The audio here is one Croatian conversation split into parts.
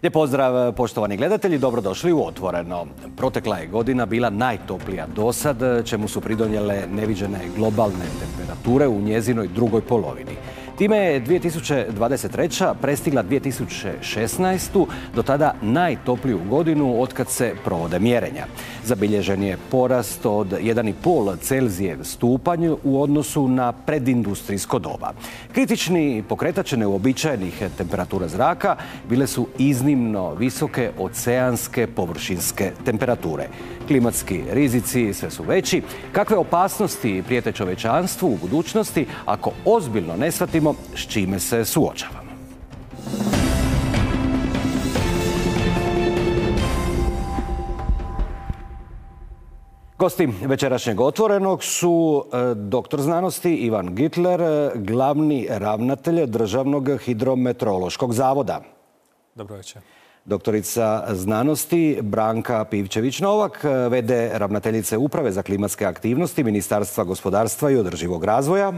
Lijep pozdrav, poštovani gledatelji, dobrodošli u Otvoreno. Protekla je godina bila najtoplija dosad, čemu su pridonijele neviđene globalne temperature u njezinoj drugoj polovini. Time je 2023. prestigla 2016. do tada najtopliju godinu otkad se provode mjerenja. Zabilježen je porast od 1,5 Celzijev stupanj u odnosu na predindustrijsko doba. Kritični pokretač neuobičajenih temperatura zraka bile su iznimno visoke oceanske površinske temperature. Klimatski rizici sve su veći. Kakve opasnosti prijete čovječanstvu u budućnosti ako ozbiljno ne shvatimo s čime se suočavamo? Gosti večerašnjeg Otvorenog su doktor znanosti Ivan Gitler, glavni ravnatelj Državnog hidrometeorološkog zavoda. Dobro večer. Doktorica znanosti Branka Pivčević-Novak, v.d. ravnateljice Uprave za klimatske aktivnosti Ministarstva gospodarstva i održivog razvoja.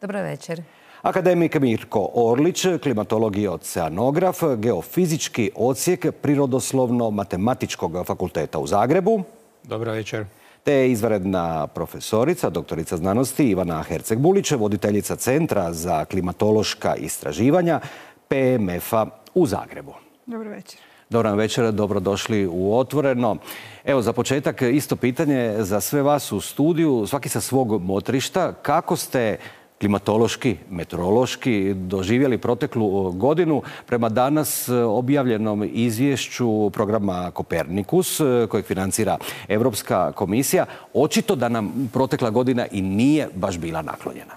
Dobro večer. Akademik Mirko Orlić, klimatolog i oceanograf, geofizički odsjek Prirodoslovno-matematičkog fakulteta u Zagrebu. Dobro večer. Te izvanredna profesorica, doktorica znanosti Ivana Herceg-Bulić, voditeljica Centra za klimatološka istraživanja PMF-a u Zagrebu. Dobro večer. Dobro vam večer, dobrodošli u Otvoreno. Evo, za početak isto pitanje za sve vas u studiju, svaki sa svog motrišta. Kako ste klimatološki, meteorološki doživjeli proteklu godinu prema danas objavljenom izvješću programa Kopernikus kojeg financira Europska komisija? Očito da nam protekla godina i nije baš bila naklonjena.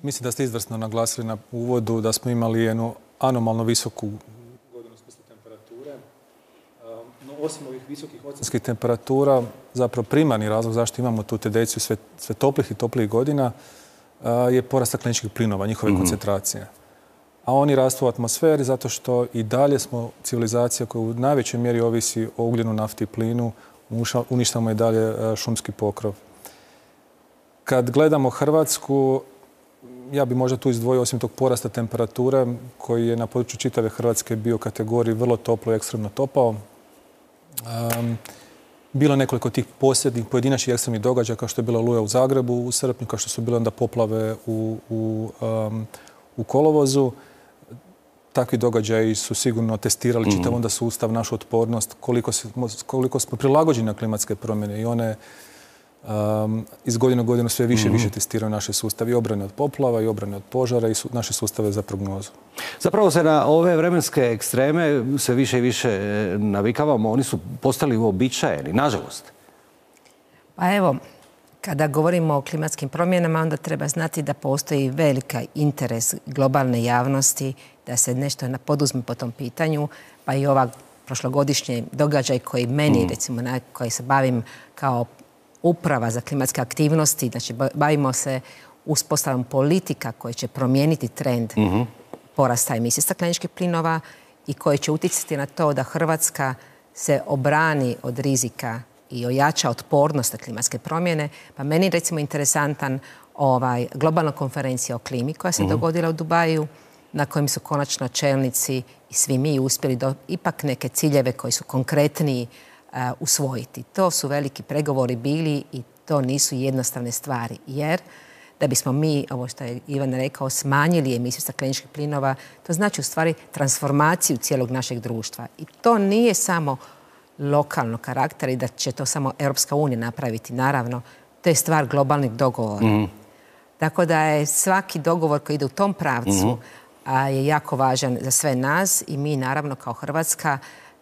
Mislim da ste izvrsno naglasili na uvodu da smo imali jednu anomalno visoku godinu u smislu temperature. No, osim ovih visokih oceanskih temperatura, zapravo primarni razlog zašto imamo tu tendenciju sve toplih i toplijih godina je porast stakleničkih plinova, njihove koncentracije. A oni rastu u atmosferi zato što i dalje smo civilizacija koja u najvećoj mjeri ovisi o ugljenu, nafti i plinu, uništavamo i dalje šumski pokrov. Kad gledamo Hrvatsku, ja bi možda tu izdvojio osim tog porasta temperature koji je na području čitave Hrvatske bio u kategoriji vrlo toplo i ekstremno topao. Bilo nekoliko tih posljednjih pojedinačnih ekstremnih događaja kao što je bila oluja u Zagrebu u srpnju, kao što su bile onda poplave u kolovozu. Takvi događaji su sigurno testirali čitav onda sustav, našu otpornost, koliko smo prilagođeni na klimatske promjene i one iz godine u godinu sve više i više testiraju naše sustave i obrane od poplava i obrane od požara i naše sustave za prognozu. Zapravo se na ove vremenske ekstreme sve više i više navikavamo. Oni su postali uobičajeni, nažalost. Pa evo, kada govorimo o klimatskim promjenama, onda treba znati da postoji velika interes globalne javnosti da se nešto poduzme po tom pitanju, pa i ova prošlogodišnji događaj koji meni, recimo, na koji se bavim kao Uprava za klimatske aktivnosti, znači bavimo se uspostavom politika koje će promijeniti trend porasta emisije stakleničkih plinova i koje će utjecati na to da Hrvatska se obrani od rizika i ojača otpornost na klimatske promjene. Pa meni recimo interesantan globalna konferencija o klimi koja se dogodila u Dubaju, na kojem su konačno čelnici i svi mi uspjeli ipak neke ciljeve koji su konkretniji usvojiti. To su veliki pregovori bili i to nisu jednostavne stvari, jer da bismo mi, ovo što je Ivan rekao, smanjili emisiju stakleničkih plinova, to znači u stvari transformaciju cijelog našeg društva. I to nije samo lokalnog karaktera i da će to samo Europska unija napraviti, naravno. To je stvar globalnih dogovora. Tako da je svaki dogovor koji ide u tom pravcu je jako važan za sve nas i mi naravno kao Hrvatska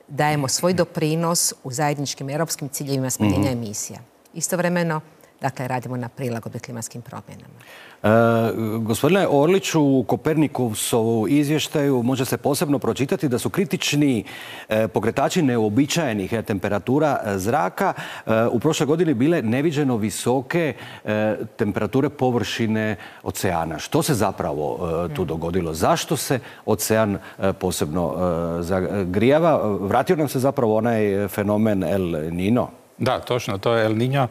dajemo svoj doprinos u zajedničkim europskim ciljevima smanjenja emisija. Istovremeno, dakle, radimo na prilagodbi klimatskim promjenama. Gospodine Orliću, u Kopernikusovu izvještaju može se posebno pročitati da su kritični pokretači neuobičajenih temperatura zraka u prošloj godini bile neviđeno visoke temperature površine oceana. Što se zapravo tu dogodilo? Zašto se ocean posebno zagrijava? Vratio nam se zapravo onaj fenomen El Niño? Da, točno, to je El Niño.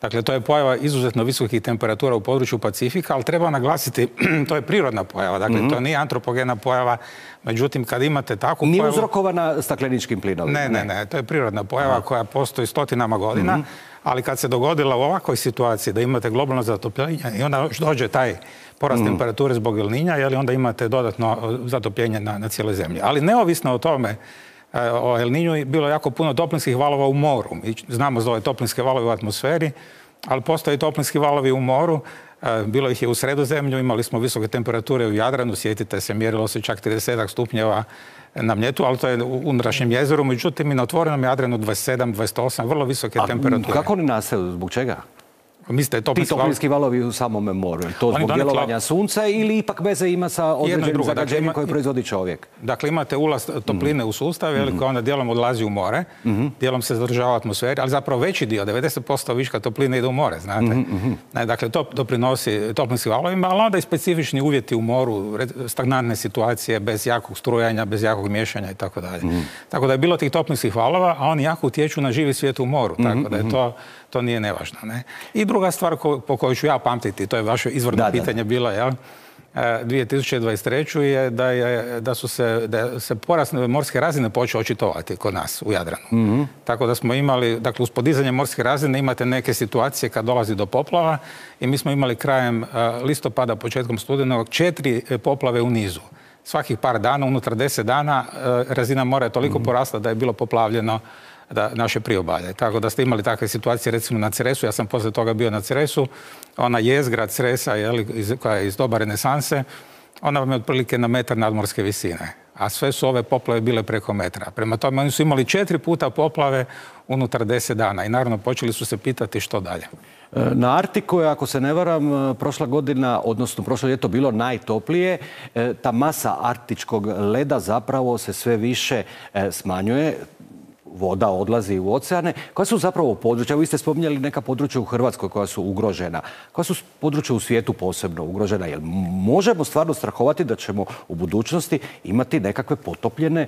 Dakle, to je pojava izuzetno visokih temperatura u području Pacifika, ali treba naglasiti, to je prirodna pojava, dakle, to nije antropogena pojava, međutim, kad imate takvu pojavu... Nije uzrokovana stakleničkim plinovima? Ne, to je prirodna pojava koja postoji stotinama godina, ali kad se dogodila u ovakvoj situaciji da imate globalno zatopljenje i onda dođe taj porast temperature zbog El Niña, onda imate dodatno zatopljenje na cijeloj zemlji. Ali neovisno o tome, o El Niñu bilo jako puno toplinskih valova u moru. Mi znamo za ove toplinske valove u atmosferi, ali postoje toplinski valovi u moru. Bilo ih je u Sredozemlju, imali smo visoke temperature u Jadranu, sjetite se, mjerilo se čak 30 stupnjeva na Mljetu, ali to je u unutrašnjem jezeru, međutim i na otvorenom Jadranu 27, 28, vrlo visoke temperature. Kako oni nastaju? Zbog čega? Mislite, ti toplinski valovi u samom moru? To zbog djelovanja sunca ili ipak veze ima sa određenim zagađenjem koje proizvodi čovjek? Dakle, imate ulaz topline u sustav, koja onda dijelom odlazi u more, dijelom se zadržava u atmosferi, ali zapravo veći dio, 90% viška topline ide u more, znate. Dakle, to doprinosi toplinskim valovima, ali onda i specifični uvjeti u moru, stagnantne situacije, bez jakog strujanja, bez jakog miješanja i tako dalje. Tako da je bilo tih toplinskih valova, a oni jako utječu na živi svijet u moru, tako da je to nije nevažno. I druga stvar po kojoj ću ja pamtiti, to je vaše izvorno pitanje bilo, 2023. je da se porast morske razine počeo očitovati kod nas u Jadranu. Tako da smo imali, dakle uz podizanje morske razine imate neke situacije kad dolazi do poplava i mi smo imali krajem listopada, početkom studenog 4 poplave u nizu. Svakih par dana, unutar 10 dana, razina mora je toliko porasla da je bilo poplavljeno naše priobalje. Tako da ste imali takve situacije recimo na Cresu, ja sam poslije toga bio na Cresu, ona jezgra Cresa koja je iz doba renesanse, ona vam je otprilike na metar nadmorske visine, a sve su ove poplave bile preko metra. Prema tome oni su imali 4 puta poplave unutar 10 dana i naravno počeli su se pitati što dalje. Na Arktiku je, ako se ne varam, prošla godina, odnosno prošlo ljeto bilo najtoplije. Ta masa arktičkog leda zapravo se sve više smanjuje. Voda odlazi u oceane. Koja su zapravo područja? Vi ste spominjali neka područja u Hrvatskoj koja su ugrožena. Koja su područja u svijetu posebno ugrožena? Jel možemo stvarno strahovati da ćemo u budućnosti imati nekakve potopljene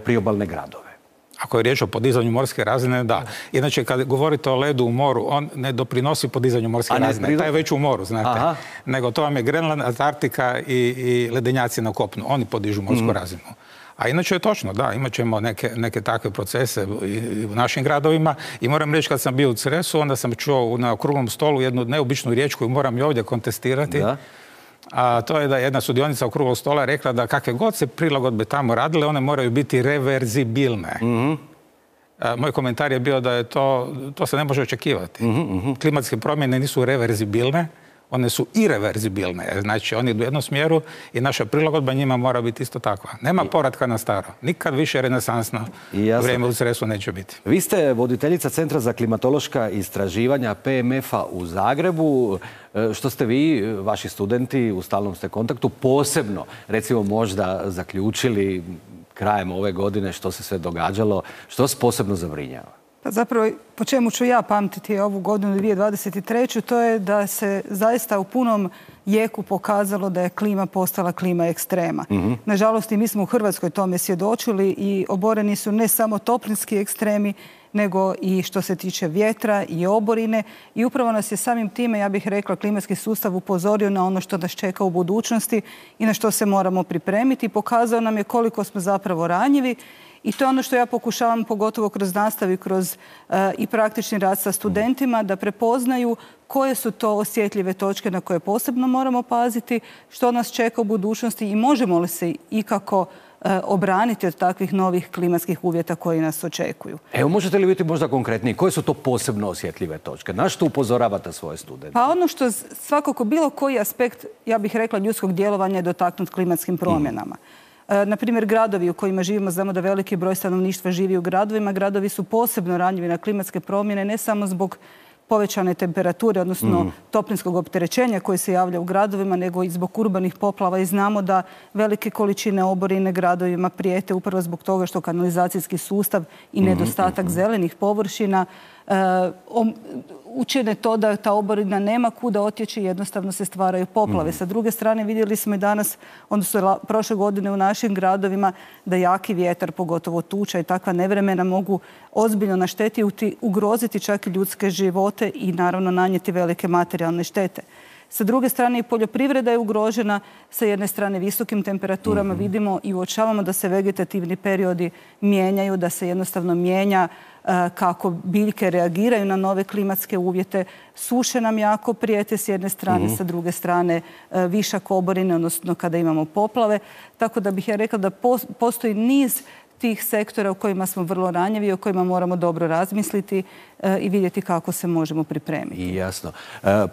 priobalne gradove? Ako je riječ o podizanju morske razine, da. Inače, kad govorite o ledu u moru, on ne doprinosi podizanju morske razine. Taj je već u moru, znate. Nego to vam je Grenland, Antarktika i ledenjaci na kopnu. Oni podižu morsku razinu. A inače je točno, da, imat ćemo neke takve procese i u našim gradovima. I moram reći, kad sam bio u Cresu, onda sam čuo na okruglom stolu jednu neobičnu riječ koju moram i ovdje kontestirati. A to je da jedna sudionica okruglog stola rekla da kakve god se prilagodbe tamo radile, one moraju biti reverzibilne. Moj komentar je bio da je to se ne može očekivati. Klimatske promjene nisu reverzibilne, one su ireverzibilne. Znači, oni idu u jednom smjeru i naša prilagodba njima mora biti isto takva. Nema povratka na staro. Nikad više renesansno vrijeme u Cresu neće biti. Vi ste voditeljica Centra za klimatološka istraživanja PMF-a u Zagrebu. Što ste vi, vaši studenti, u stalnom ste kontaktu, posebno, recimo, možda zaključili krajem ove godine što se sve događalo, što vas posebno zabrinjava? Pa zapravo, po čemu ću ja pamtiti ovu godinu 2023. to je da se zaista u punom jeku pokazalo da je klima postala klima ekstrema. Nažalost, i mi smo u Hrvatskoj tome svjedočili i oboreni su ne samo toplinski ekstremi, nego i što se tiče vjetra i oborine. I upravo nas je samim time, ja bih rekla, klimatski sustav upozorio na ono što nas čeka u budućnosti i na što se moramo pripremiti. Pokazao nam je koliko smo zapravo ranjivi. I to je ono što ja pokušavam, pogotovo kroz nastavu, kroz i praktični rad sa studentima, da prepoznaju koje su to osjetljive točke na koje posebno moramo paziti, što nas čeka u budućnosti i možemo li se ikako obraniti od takvih novih klimatskih uvjeta koji nas očekuju. Evo, možete li biti možda konkretniji? Koje su to posebno osjetljive točke? Na što upozoravate svoje studente? Pa ono što svakako bilo koji aspekt, ja bih rekla, ljudskog djelovanja je dotaknut klimatskim promjenama. Na primjer, gradovi u kojima živimo, znamo da veliki broj stanovništva živi u gradovima. Gradovi su posebno ranjivi na klimatske promjene, ne samo zbog povećane temperature, odnosno toplinskog opterećenja koje se javlja u gradovima, nego i zbog urbanih poplava. I znamo da velike količine oborine gradovima prijete upravo zbog toga što kanalizacijski sustav i nedostatak zelenih površina učine to da ta oborina nema kuda otjeći i jednostavno se stvaraju poplave. Sa druge strane vidjeli smo i danas, odnosno prošle godine u našim gradovima, da jaki vjetar, pogotovo tuča i takva nevremena mogu ozbiljno naštetiti, ugroziti čak i ljudske živote i naravno nanijeti velike materijalne štete. Sa druge strane i poljoprivreda je ugrožena, sa jedne strane visokim temperaturama vidimo i uočavamo da se vegetativni periodi mijenjaju, da se jednostavno mijenja kako biljke reagiraju na nove klimatske uvjete. Suše nam jako prijete s jedne strane, sa druge strane višak oborine, odnosno kada imamo poplave. Tako da bih ja rekla da postoji niz tih sektora u kojima smo vrlo ranjivi i o kojima moramo dobro razmisliti i vidjeti kako se možemo pripremiti. I jasno.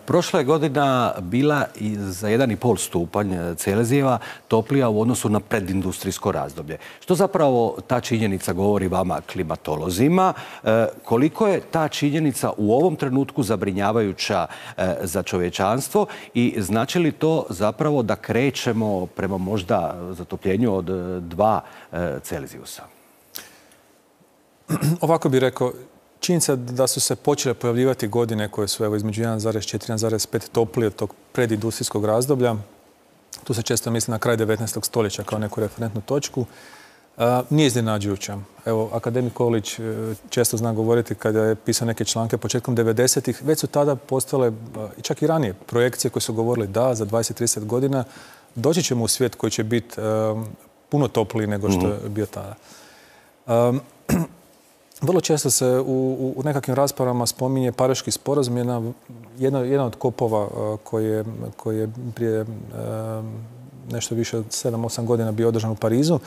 Prošla je godina bila i za 1,5 stupanj Celzijeva toplija u odnosu na predindustrijsko razdoblje. Što zapravo ta činjenica govori vama, klimatolozima? Koliko je ta činjenica u ovom trenutku zabrinjavajuća za čovječanstvo i znači li to zapravo da krećemo prema možda zatopljenju od 2 Celzijusa? Ovako bih rekao, činjenica da su se počele pojavljivati godine koje su između 1,4 i 1,5 toplije od tog predindustrijskog razdoblja. Tu se često misli na kraj 19. stoljeća kao neku referentnu točku. Nije iznenađujuća. Evo, akademik Kolić često zna govoriti kada je pisao neke članke početkom 90-ih. Već su tada postale, i čak i ranije, projekcije koje su govorili da za 20-30 godina doći ćemo u svijet koji će biti puno topliji nego što je bio tada. Vrlo često se u nekakvim raspravama spominje Pariški sporazum, jedan od kopova koji je prije nešto više od 7-8 godina bio održan u Parizu.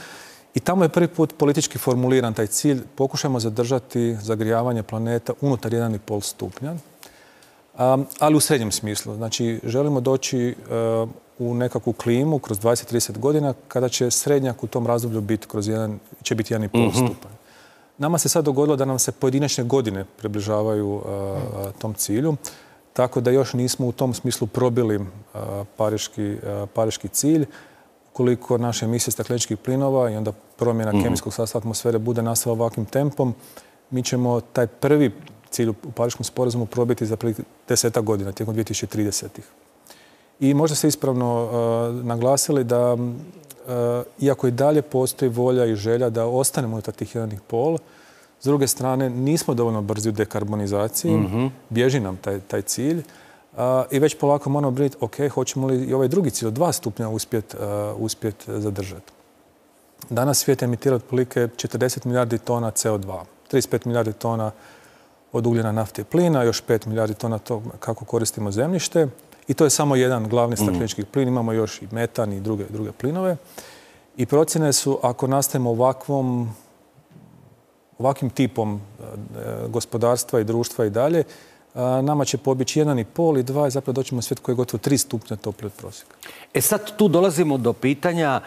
I tamo je prvi put politički formuliran taj cilj. Pokušajmo zadržati zagrijavanje planeta unutar 1,5 stupnja, ali u srednjem smislu. Znači, želimo doći u nekakvu klimu kroz 20-30 godina kada će srednjak u tom razdoblju biti će biti 1,5 stupanj. Nama se sad dogodilo da nam se pojedinačne godine približavaju tom cilju, tako da još nismo u tom smislu probili pariški cilj. Ukoliko naše emisije stakleničkih plinova i onda promjena kemijskog sastava atmosfere bude nastavila ovakvim tempom, mi ćemo taj prvi cilj u Pariškom sporazumu probiti za 10 godina, tijekom 2030-ih. I možda ste ispravno naglasili da iako i dalje postoji volja i želja da ostanemo unutar tih 1,5, s druge strane nismo dovoljno brzi u dekarbonizaciji, bježi nam taj cilj i već polako moramo brinuti, ok, hoćemo li i ovaj drugi cilj od 2 stupnja uspjet zadržati. Danas svijet emitira otprilike 40 milijardi tona CO2, 35 milijardi tona od ugljena, nafte i plina, još 5 milijardi tona to kako koristimo zemljište. I to je samo jedan glavni staklenički plin. Imamo još i metan i druge plinove. I procjene su, ako nastavimo ovakvim tipom gospodarstva i društva i dalje, nama će pobjeći 1,5 i 2 i zapravo doćemo u svijet koji je gotovo 3 stupnja toplije od prosjeka. Sad tu dolazimo do pitanja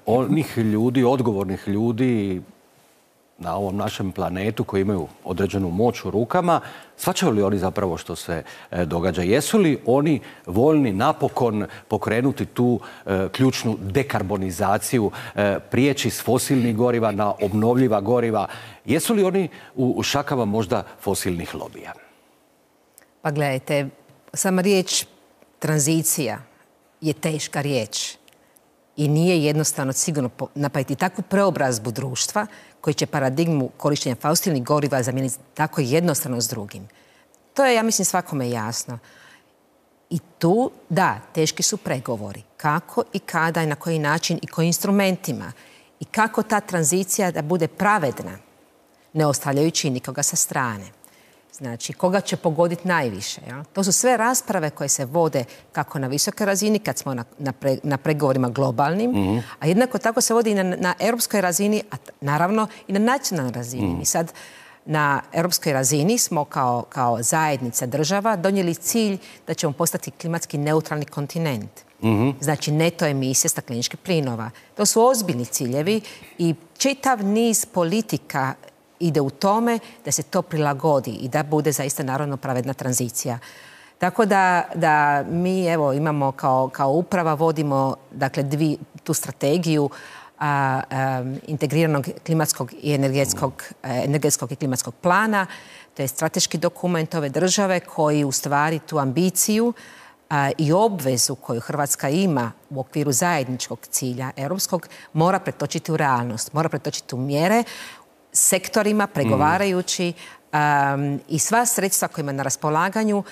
onih ljudi, odgovornih ljudi na ovom našem planetu koji imaju određenu moć u rukama. Shvaćaju li oni zapravo što se događa? Jesu li oni voljni napokon pokrenuti tu ključnu dekarbonizaciju, prijeći s fosilnih goriva na obnovljiva goriva? Jesu li oni u šakama možda fosilnih lobija? Pa gledajte, sama riječ tranzicija je teška riječ i nije jednostavno sigurno napraviti takvu preobrazbu društva koji će paradigmu korištenja fosilnih goriva zamijeniti tako jednostavno s drugim. To je, ja mislim, svakome jasno. I tu, da, teški su pregovori. Kako i kada i na koji način i kojim instrumentima. I kako ta tranzicija da bude pravedna, ne ostavljajući nikoga sa strane. Znači, koga će pogoditi najviše. Ja? To su sve rasprave koje se vode kako na visokoj razini, kad smo na pregovorima globalnim, a jednako tako se vodi i na europskoj razini, a naravno i na nacionalnoj razini. Mi sad na europskoj razini smo kao zajednica država donijeli cilj da ćemo postati klimatski neutralni kontinent. Znači, neto emisije stakleničkih plinova. To su ozbiljni ciljevi i čitav niz politika ide u tome da se to prilagodi i da bude zaista narodno pravedna tranzicija. Tako da mi evo imamo kao uprava vodimo dakle tu strategiju integriranog klimatskog i energetskog i klimatskog plana. To je strateški dokument ove države koji u stvari tu ambiciju i obvezu koju Hrvatska ima u okviru zajedničkog cilja europskog mora pretočiti u realnost, mora pretočiti u mjere sektorima, pregovarajući i sva sredstva koja ima na raspolaganju.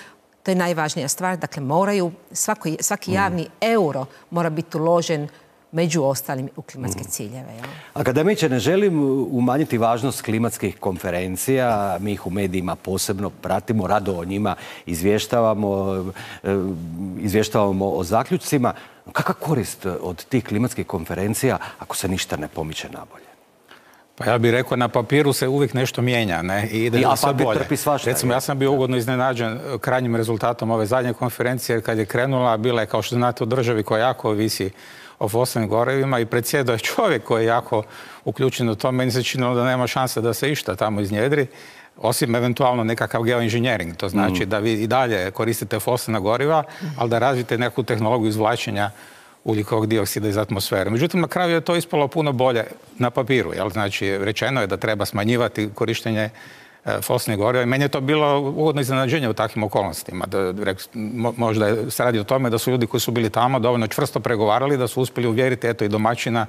To je najvažnija stvar. Dakle, moraju, svaki javni euro mora biti uložen među ostalim u klimatske ciljeve. Ja? Akademiče, ne želim umanjiti važnost klimatskih konferencija. Mi ih u medijima posebno pratimo, rado o njima izvještavamo o zaključcima. Kakva korist od tih klimatskih konferencija ako se ništa ne pomiče nabolje? Pa ja bih rekao, na papiru se uvijek nešto mijenja, ne? I ide sve bolje. Recimo, ja sam bio ugodno iznenađen krajnjim rezultatom ove zadnje konferencije kad je krenula. Bila je, kao što znate, u državi koja jako ovisi o fosilnim gorivima i predsjedao je čovjek koji je jako uključen u to. Meni se činilo da nema šanse da se išta tamo iznjedri, osim eventualno nekakav geoinženjering. To znači da vi i dalje koristite fosilna goriva, ali da razvijete neku tehnologiju izvlačenja ugljikovog dioksida iz atmosfere. Međutim, na kraju je to ispalo puno bolje na papiru. Znači, rečeno je da treba smanjivati korištenje fosilnih goriva i meni je to bilo ugodno iznenađenje u takvim okolnostima. Možda se radi o tome da su ljudi koji su bili tamo dovoljno čvrsto pregovarali, da su uspjeli uvjeriti i domaćina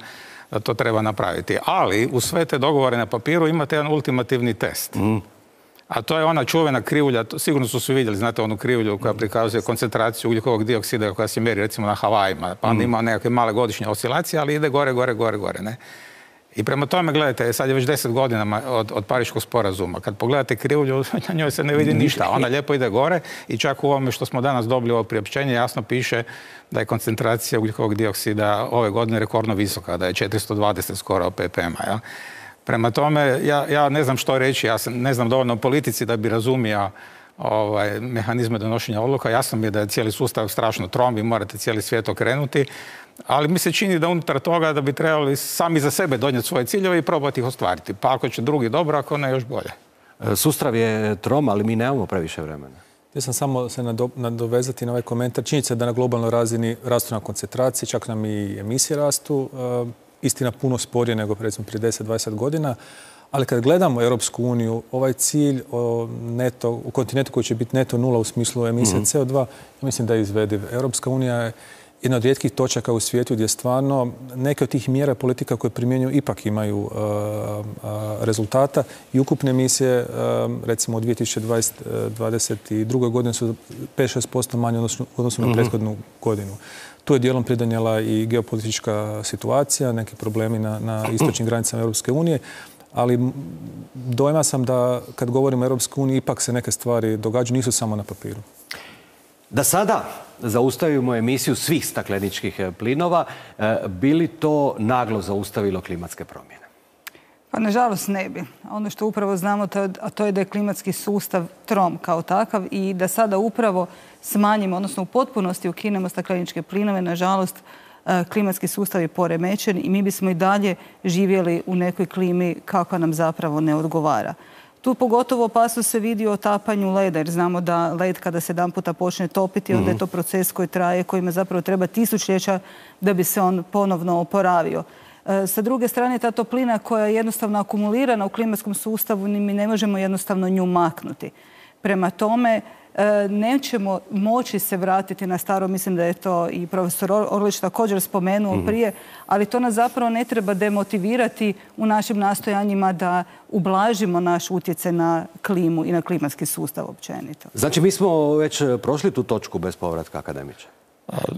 da to treba napraviti. Ali u sve te dogovore na papiru imate jedan ultimativni test. A to je ona čuvena krivulja, sigurno su svi vidjeli, znate, onu krivulju koja prikazuje koncentraciju ugljikovog dioksida koja se mjeri recimo na Havajima. Pa onda ima nekakve male godišnje oscilacije, ali ide gore, ne? I prema tome, gledajte, sad je već 10 godina od Pariškog sporazuma. Kad pogledate krivulju, na njoj se ne vidi ništa. Ona lijepo ide gore i čak u ovome što smo danas dobili ovo priopćenje jasno piše da je koncentracija ugljikovog dioksida ove godine rekordno visoka, da je 420 skoro ppm-a. Prema tome, ja ne znam što reći, ja ne znam dovoljno o politici da bi razumio mehanizme donošenja odluka. Jasno mi je da je cijeli sustav strašno trom, vi morate cijeli svijet okrenuti, ali mi se čini da unutar toga da bi trebali sami za sebe donijeti svoje ciljeve i probati ih ostvariti. Pa ako će drugi dobro, ako ne još bolje. Sustav je trom, ali mi nemamo previše vremena. Ja sam samo se nadovezati na ovaj komentar. Činjenica je da na globalnoj razini rastu na koncentraciji, čak nam i emisije rastu. Istina puno sporije nego recimo prije 10-20 godina. Ali kad gledamo Europsku uniju, ovaj cilj u kontinentu koji će biti neto nula u smislu emisije CO2, mislim da je izvediv. Europska unija je jedna od rijetkih točaka u svijetu gdje stvarno neke od tih mjera politika koje primjenjuju ipak imaju rezultata i ukupne emisije, recimo u 2022. godini su 5-6% manje u odnosu na prethodnu godinu. Tu je dijelom pridonijela i geopolitička situacija, neki problemi na istočnim granicama Europske unije, ali dojma sam da kad govorimo o Europskoj uniji ipak se neke stvari događaju, nisu samo na papiru. Da sada zaustavimo emisiju svih stakleničkih plinova, bi li to naglo zaustavilo klimatske promjene? Pa nažalost ne bi. Ono što upravo znamo, a to je da je klimatski sustav trom kao takav i da sada upravo smanjimo, odnosno u potpunosti ukinemo stakleničke plinove, nažalost klimatski sustav je poremećen i mi bismo i dalje živjeli u nekoj klimi kakva nam zapravo ne odgovara. Tu pogotovo opasnost se vidi u otapanju leda, jer znamo da led kada se jedan puta počne topiti, onda je to proces koji traje, kojima zapravo treba tisućljeća da bi se on ponovno oporavio. Sa druge strane, ta toplina koja je jednostavno akumulirana u klimatskom sustavu, mi ne možemo jednostavno nju maknuti. Prema tome, nećemo moći se vratiti na staro, mislim da je to i profesor Orlić također spomenuo prije, ali to nas zapravo ne treba demotivirati u našim nastojanjima da ublažimo naš utjecaj na klimu i na klimatski sustav općenito. Znači, mi smo već prošli tu točku bez povratka, akademiče?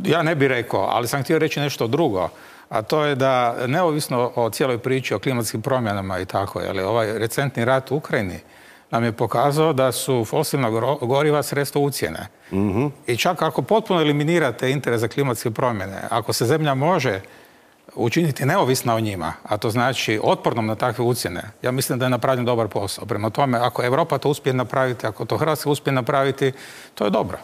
Ja ne bih rekao, ali sam htio reći nešto drugo. A to je da, neovisno o cijeloj priči o klimatskim promjenama i tako, ovaj recentni rat u Ukrajini nam je pokazao da su fosilna goriva sredstvo ucjene. I čak ako potpuno eliminirate interes za klimatske promjene, ako se zemlja može učiniti neovisna o njima, a to znači otpornom na takve ucjene, ja mislim da je napravljen dobar posao. Prema tome, ako Europa to uspije napraviti, ako to Hrvatska uspije napraviti, to je dobro.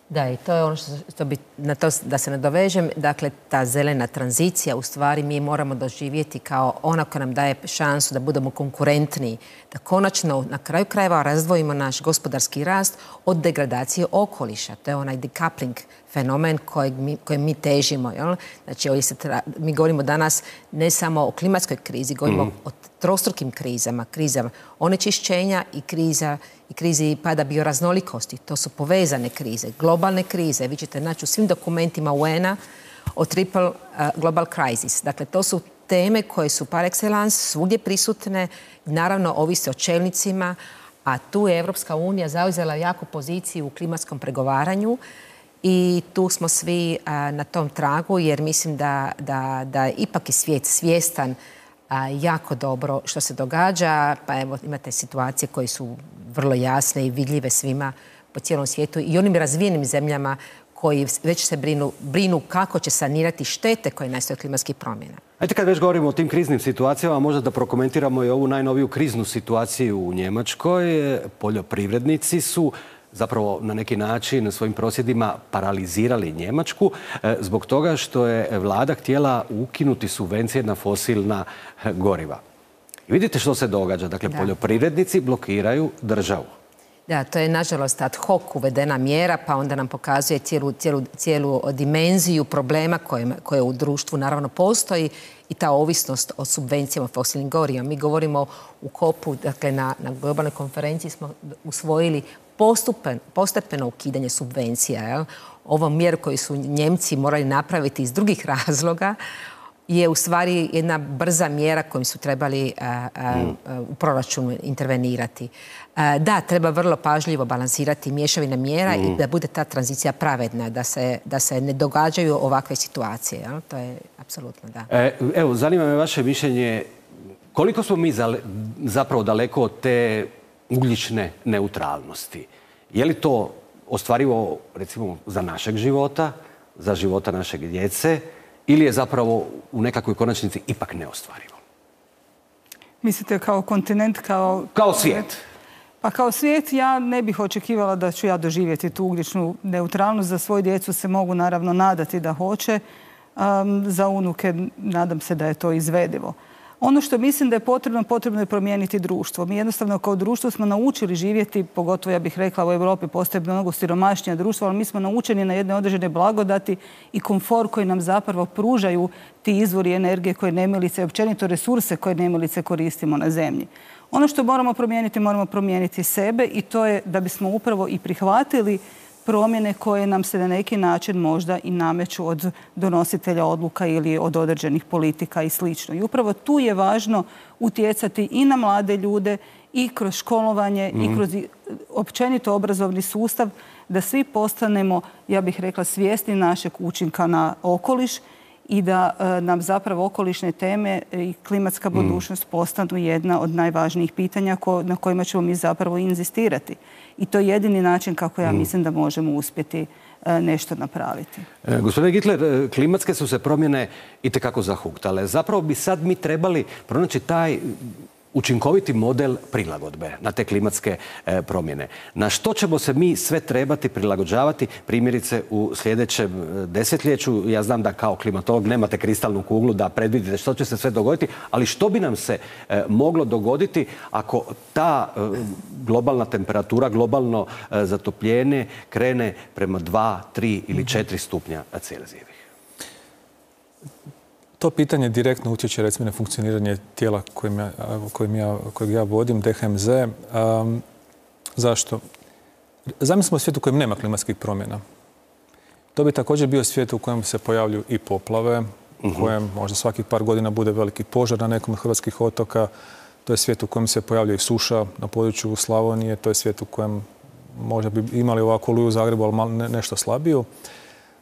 Da, i to je ono što bi, na to da se nadovežem, dakle, ta zelena tranzicija, u stvari mi moramo doživjeti kao ona koja nam daje šansu da budemo konkurentniji, da konačno na kraju krajeva razdvojimo naš gospodarski rast od degradacije okoliša. To je onaj decoupling fenomen kojem mi težimo. Jel? Znači, mi govorimo danas ne samo o klimatskoj krizi, govorimo o trostrukim krizama, krizama onečišćenja i krizi pada bioraznolikosti. To su povezane krize, globalne krize. Vi ćete naći u svim dokumentima UN-a o triple global crisis. Dakle, to su teme koje su par excellence svugdje prisutne, naravno ovise o čelnicima, a tu je Evropska unija zauzela jaku poziciju u klimatskom pregovaranju i tu smo svi na tom tragu, jer mislim da ipak je svijet svjestan jako dobro što se događa. Pa evo, imate situacije koje su vrlo jasne i vidljive svima po cijelom svijetu i onim razvijenim zemljama koji već se brinu kako će sanirati štete koje nastaju od klimatskih promjena. Ajde, kad već govorimo o tim kriznim situacijama, možda da prokomentiramo i ovu najnoviju kriznu situaciju u Njemačkoj. Poljoprivrednici su zapravo na neki način svojim prosvjedima paralizirali Njemačku zbog toga što je vlada htjela ukinuti subvencije na fosilna goriva. I vidite što se događa. Dakle, poljoprivrednici blokiraju državu. Da, to je nažalost ad hoc uvedena mjera, pa onda nam pokazuje cijelu dimenziju problema koje u društvu naravno postoji i ta ovisnost o subvencijama fosilnim gorivima. Mi govorimo u COP-u, dakle na globalnoj konferenciji smo usvojili postepeno ukidanje subvencija. Jel? Ovu mjeru koju su Njemci morali napraviti iz drugih razloga je u stvari jedna brza mjera kojom su trebali u proračunu intervenirati. Da, treba vrlo pažljivo balansirati mješavine mjera i da bude ta tranzicija pravedna, da se ne događaju ovakve situacije. Jel? To je apsolutno da. Evo, zanima me vaše mišljenje. Koliko smo mi zapravo daleko od te ugljične neutralnosti? Je li to ostvarivo, recimo, za našeg života, za života našeg djece, ili je zapravo u nekakvoj konačnici ipak neostvarivo? Mislite kao kontinent, kao svijet? Pa kao svijet ja ne bih očekivala da ću ja doživjeti tu ugljičnu neutralnost. Za svoju djecu se mogu naravno nadati da hoće. Za unuke nadam se da je to izvedivo. Ono što mislim da je potrebno je promijeniti društvo. Mi jednostavno kao društvo smo naučili živjeti, pogotovo ja bih rekla u Europi postoje mnogo siromašnija društva, ali mi smo naučeni na jedne određene blagodati i komfor koji nam zapravo pružaju ti izvori energije koje nemilice, općenito resurse koje nemilice koristimo na zemlji. Ono što moramo promijeniti sebe i to je da bismo upravo i prihvatili promjene koje nam se na neki način možda i nameću od donositelja odluka ili od određenih politika i sl. I upravo tu je važno utjecati i na mlade ljude i kroz školovanje i kroz općenito obrazovni sustav da svi postanemo, ja bih rekla, svjesni našeg učinka na okoliš i da nam zapravo okolišne teme i klimatska budućnost postanu jedna od najvažnijih pitanja na kojima ćemo mi zapravo inzistirati. I to je jedini način kako ja mislim da možemo uspjeti nešto napraviti. Gospodine Gittler, klimatske su se promjene itekako zahuktale. Zapravo bi sad mi trebali pronaći taj učinkoviti model prilagodbe na te klimatske promjene. Na što ćemo se mi sve trebati prilagođavati, primjerice u sljedećem desetljeću? Ja znam da kao klimatolog nemate kristalnu kuglu da predvidite što će se sve dogoditi, ali što bi nam se moglo dogoditi ako ta globalna temperatura, globalno zatopljenje krene prema 2, 3 ili 4 stupnja Celzijevih? To pitanje direktno utječe recimo na funkcioniranje tijela kojeg ja vodim, DHMZ. Zašto? Zamislimo svijet u kojem nema klimatskih promjena. To bi također bio svijet u kojem se pojavljuju i poplave, u kojem možda svakih par godina bude veliki požar na nekom od hrvatskih otoka. To je svijet u kojem se pojavljuje i suša na području Slavonije. To je svijet u kojem možda bi imali ovako oluju u Zagrebu, ali nešto slabiju.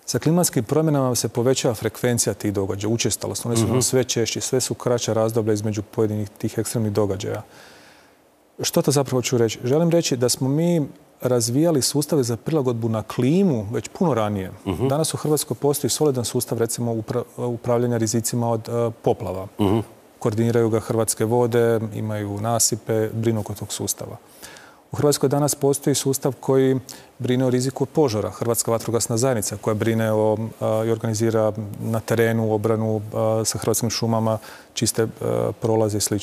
Sa klimatskim promjenama se povećava frekvencija tih događaja, učestalost. One su sve češće, sve su kraća razdoblja između pojedinih tih ekstremnih događaja. Što to zapravo ću reći? Želim reći da smo mi razvijali sustave za prilagodbu na klimu već puno ranije. Danas u Hrvatskoj postoji solidan sustav, recimo, upravljanja rizicima od poplava. Koordiniraju ga Hrvatske vode, imaju nasipe, brinu oko tog sustava. U Hrvatskoj danas postoji sustav koji brine o riziku od požara. Hrvatska vatrogasna zajednica koja brine i organizira na terenu obranu sa Hrvatskim šumama, čiste prolaze i sl.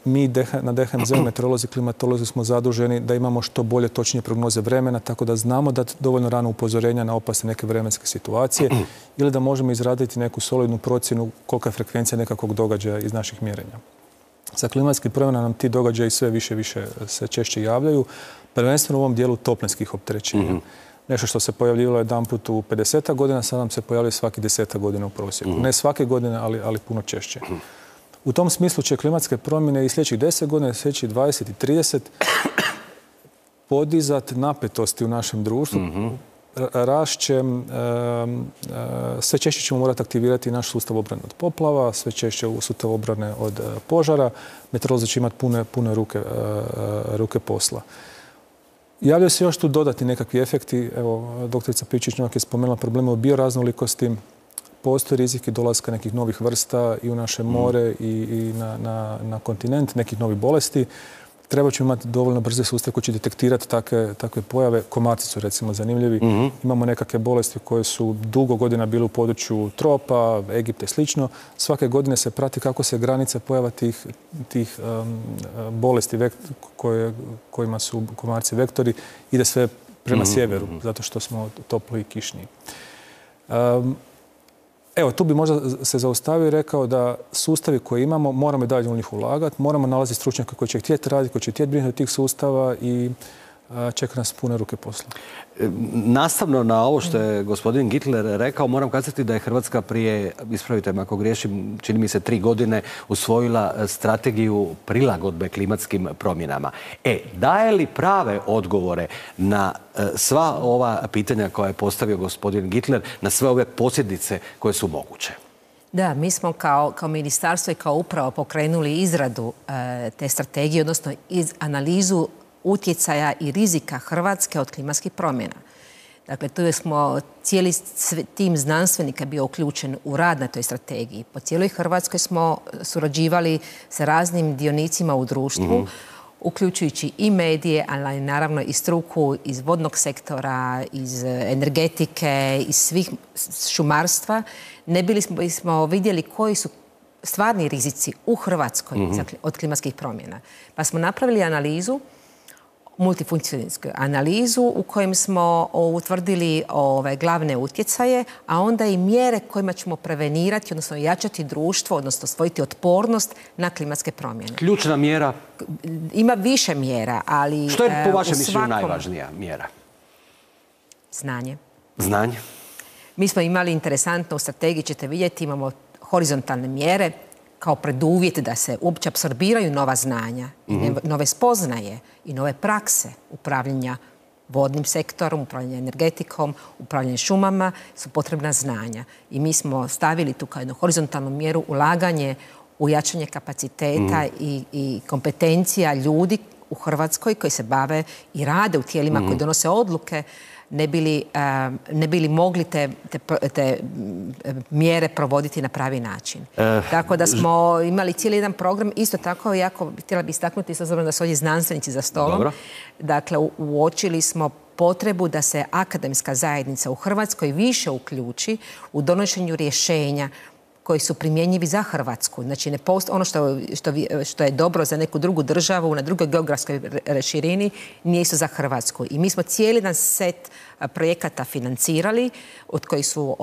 Mi na DHMZ-u, meteorolozi, klimatolozi smo zaduženi da imamo što bolje, točnije prognoze vremena, tako da znamo dati dovoljno rano upozorenja na opasne neke vremenske situacije ili da možemo izraditi neku solidnu procjenu kolika je frekvencija nekakvog događaja iz naših mjerenja. Sa klimatskim promjenama nam ti događaji sve više se češće javljaju, prvenstveno u ovom dijelu toplinskih opterećenja. Nešto što se pojavljivalo jedanput u 50 godina, sad nam se pojavljuje svaki 10 godina u prosjeku. Ne svake godine, ali puno češće. U tom smislu će klimatske promjene i sljedećih 10 godina, sljedećih 20 i 30 podizati napetosti u našem društvu. Sve češće ćemo morati aktivirati naš sustav obrane od poplava, sve češće sustav obrane od požara. Meteorolozi će imati pune ruke posla. Javljaju se još tu dodati nekakvi efekti. Evo, doktorica Pličić-Novak je spomenula probleme u bioraznolikosti. Postoji rizik i dolaska nekih novih vrsta i u naše more i na kontinent, nekih novih bolesti. Treba ćemo imati dovoljno brze sustav koji će detektirati takve pojave. Komarci su recimo zanimljivi. Imamo nekakve bolesti koje su dugo godina bile u području tropa, Egipta i slično. Svake godine se prati kako se granica pojava tih bolesti kojima su komarci vektori ide sve prema sjeveru, zato što smo topli i kišniji. Evo, tu bi možda se zaustavio i rekao da sustavi koje imamo, moramo i dalje u njih ulagati, moramo nalaziti stručnjaka koji će htjeti raditi, koji će htjeti brinuti od tih sustava i čeka nas pune ruke posla. Nastavno na ovo što je gospodin Gittler rekao, moram kazati da je Hrvatska prije, ispravite me ako griješim, čini mi se 3 godine usvojila strategiju prilagodbe klimatskim promjenama. Daje li prave odgovore na sva ova pitanja koja je postavio gospodin Gittler, na sve ove posljedice koje su moguće? Da, mi smo kao ministarstvo i kao uprava pokrenuli izradu te strategije, odnosno analizu utjecaja i rizika Hrvatske od klimatskih promjena. Dakle, tu smo cijeli tim znanstvenika bio uključen u rad na toj strategiji. Po cijeloj Hrvatskoj smo surađivali sa raznim dionicima u društvu, uključujući i medije, ali naravno i struku iz vodnog sektora, iz energetike, iz svih šumarstva. Ne bili smo vidjeli koji su stvarni rizici u Hrvatskoj od klimatskih promjena. Pa smo napravili analizu, multifunkcijsku analizu u kojem smo utvrdili glavne utjecaje, a onda i mjere kojima ćemo prevenirati, odnosno jačati društvo, odnosno stvoriti otpornost na klimatske promjene. Ključna mjera? Ima više mjera, ali što je po vašem mišljenju najvažnija mjera? Znanje. Znanje? Mi smo imali interesantno u strategiji, ćete vidjeti, imamo horizontalne mjere kao preduvjet da se uopće apsorbiraju nova znanja, nove spoznaje i nove prakse upravljanja vodnim sektorom, upravljanja energetikom, upravljanja šumama, su potrebna znanja. I mi smo stavili tu kao jednu horizontalnu mjeru ulaganje u jačanje kapaciteta i kompetencija ljudi u Hrvatskoj koji se bave i rade u tijelima koji donose odluke, ne bili mogli te mjere provoditi na pravi način. Tako da smo imali cijeli jedan program, isto tako jako htjela bi istaknuti, s obzirom da su ovdje znanstvenici za stolom. Dobro. Dakle, uočili smo potrebu da se akademska zajednica u Hrvatskoj više uključi u donošenju rješenja koji su primjenjivi za Hrvatsku. Znači, ne postoji ono što je dobro za neku drugu državu na drugoj geografskoj širini, nije isto za Hrvatsku. I mi smo cijeli jedan set projekata financirali, od kojih su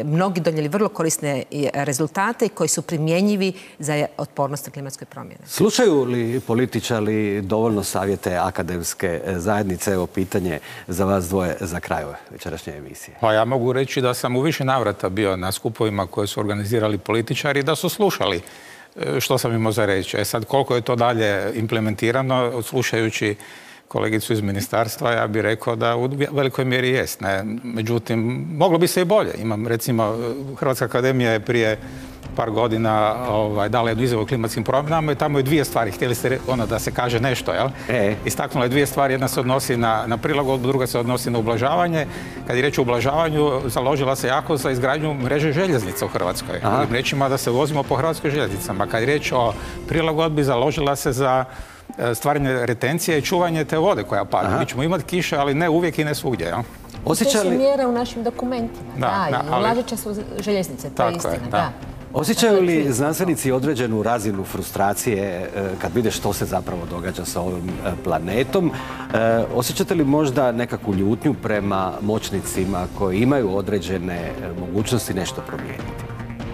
mnogi donijeli vrlo korisne rezultate i koji su primjenjivi za otpornost na klimatskoj promjene. Slušaju li političari dovoljno savjete akademske zajednice? Evo pitanje za vas dvoje za kraj ove večerašnje emisije. Pa ja mogu reći da sam u više navrata bio na skupovima koje su organizirali političari, da su slušali što sam imao za reći. Sad, koliko je to dalje implementirano, slušajući kolegicu iz ministarstva, ja bih rekao da u velikoj mjeri jest. Međutim, moglo bi se i bolje. Imam, recimo, Hrvatska akademija je prije par godina dala jednu izjavu o klimatskim promjenama i tamo je 2 stvari. Htjeli ste da se kaže nešto, jel? Istaknula je 2 stvari. Jedna se odnosi na prilagodbu, druga se odnosi na ublažavanje. Kad je riječ o ublažavanju, založila se jako za izgradnju mreže željeznica u Hrvatskoj. Drugim riječima da se vozimo po hrvatskoj željeznicama. Kad je riječ o prilagodbi, založila se za stvaranje retencije i čuvanje te vode koja pada. Mi ćemo imati kiše, ali ne uvijek i ne svugdje. Ja? To su mjere u našim dokumentima. I ulažeće su željeznice, to je istina. Osjećaju li znanstvenici određenu razinu frustracije kad vide što se zapravo događa sa ovim planetom? Osjećate li možda nekakvu ljutnju prema moćnicima koji imaju određene mogućnosti nešto promijeniti?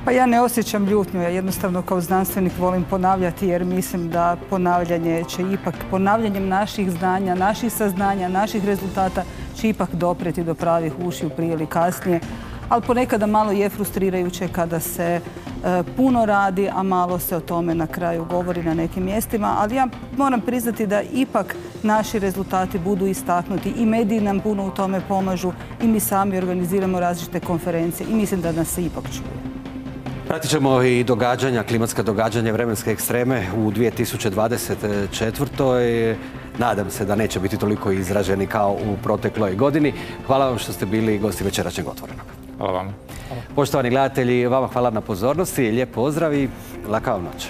Pa ja ne osjećam ljutnju, ja jednostavno kao znanstvenik volim ponavljati jer mislim da ponavljanje će ipak, ponavljanjem naših znanja, naših saznanja, naših rezultata će ipak dopreti do pravih ušiju prije ili kasnije. Ali ponekada malo je frustrirajuće kada se puno radi, a malo se o tome na kraju govori na nekim mjestima. Ali ja moram priznati da ipak naši rezultati budu istaknuti i mediji nam puno u tome pomažu i mi sami organiziramo različite konferencije i mislim da nas se ipak čuje. Pratit ćemo i događanja, klimatska događanja, vremenske ekstreme u 2024. Nadam se da neće biti toliko izraženi kao u protekloj godini. Hvala vam što ste bili gosti večerašnjeg Otvorenog. Hvala vam. Poštovani gledatelji, vama hvala na pozornosti, lijep pozdrav i laka vam noć.